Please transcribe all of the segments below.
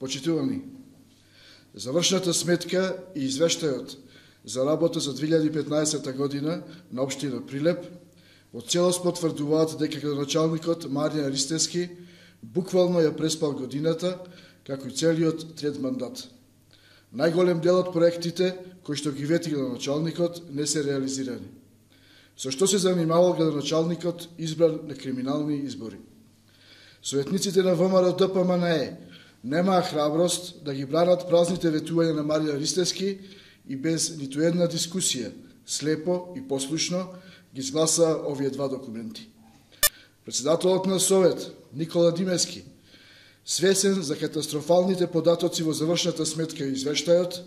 Почитувани, завршната сметка и извештајот за работа за 2015 година на општина Прилеп во целост потврдуваат дека градоначалникот Маријан Ристевски буквално ја преспал годината, како и целиот трет мандат. Најголем дел од проектите кои што ги вети градоначалникот не се реализирани. Со што се занимавал градоначалникот избран на криминални избори? Советниците на ВМРО ДПМНЕ немаа храброст да ги бранат празните ветувања на Маријан Ристевски и без ниту една дискусија, слепо и послушно ги изгласа овие два документи. Председателот на Совет, Никола Димески, свесен за катастрофалните податоци во завршната сметка и извештајот,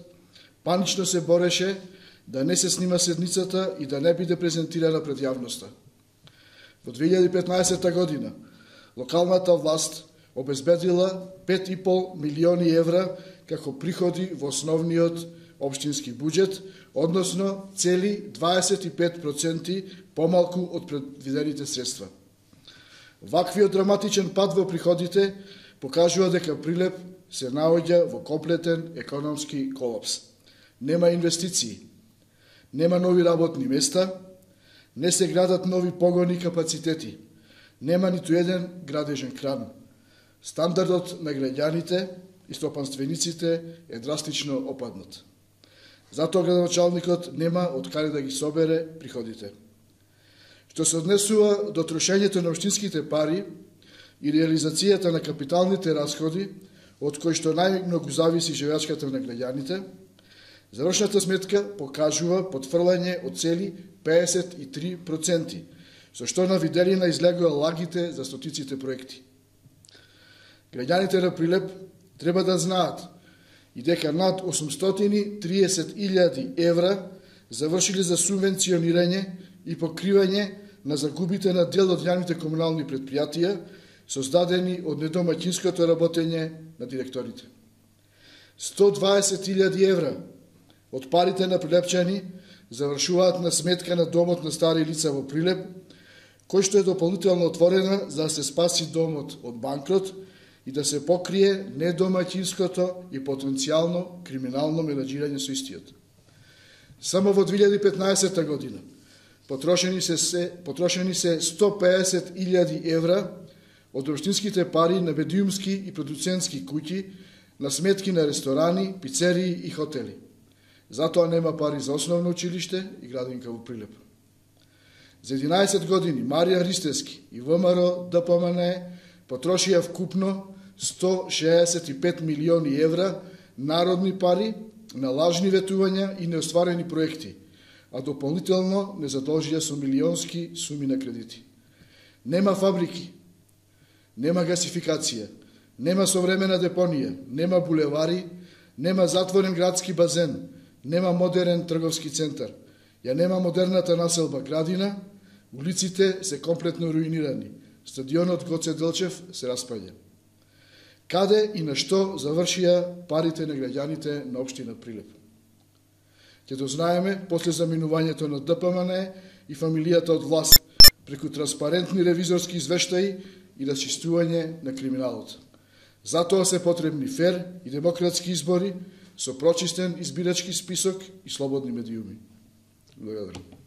панично се бореше да не се снима седницата и да не биде презентирана пред јавноста. Во 2015 година локалната власт обезбедила 5,5 милиони евра како приходи во основниот општински буџет, односно цели 25% помалку од предвидените средства. Ваквиот драматичен пад во приходите покажува дека Прилеп се наоѓа во комплетен економски колапс. Нема инвестиции, нема нови работни места, не се градат нови погони и капацитети, нема ниту еден градежен кран. Стандардот на граѓаните и стопанствениците е драстично опаднат. Затоа градоначалникот нема од каде да ги собере приходите. Што се однесува до трошењето на општинските пари и реализацијата на капиталните расходи, од кои што најмногу зависи живеачката на граѓаните, завршната сметка покажува потфрлање од цели 53%, со што на виделина излегува лагите за стотиците проекти. Граѓаните на Прилеп треба да знаат и дека над 830.000 евра завршили за субвенционирање и покривање на загубите на дел од јавните комунални предпријатија, создадени од недомаќинското работење на директорите. 120.000 евра од парите на прилепчани завршуваат на сметка на домот на стари лица во Прилеп, кој што е дополнително отворена за да се спаси домот од банкрот и да се покрие недомаќинското и потенцијално криминално менаџирање со истиот. Само во 2015 година потрошени се 150.000 евра од општинските пари на медиумски и продуцентски куќи на сметки на ресторани, пицерии и хотели. Затоа нема пари за основно училиште и градинка во Прилеп. За 11 години Маријан Ристевски и ВМРО ДПМНЕ потрошија вкупно 165 милиони евра народни пари на лажни ветувања и неостварени проекти, а дополнително не задолжија со милионски суми на кредити. Нема фабрики, нема гасификација, нема современа депонија, нема булевари, нема затворен градски базен, нема модерен трговски центар, ја нема модерната населба Градина, улиците се комплетно руинирани, стадионот Гоце Делчев се распаѓа. Каде и на што завршија парите на граѓаните на општина Прилеп? Ќе дознаеме после заминувањето на ДПМНЕ и фамилијата од власт преку транспарентни ревизорски извештаи и расчистување на криминалот. Затоа се потребни фер и демократски избори со прочистен избирачки список и слободни медиуми. Благодарам.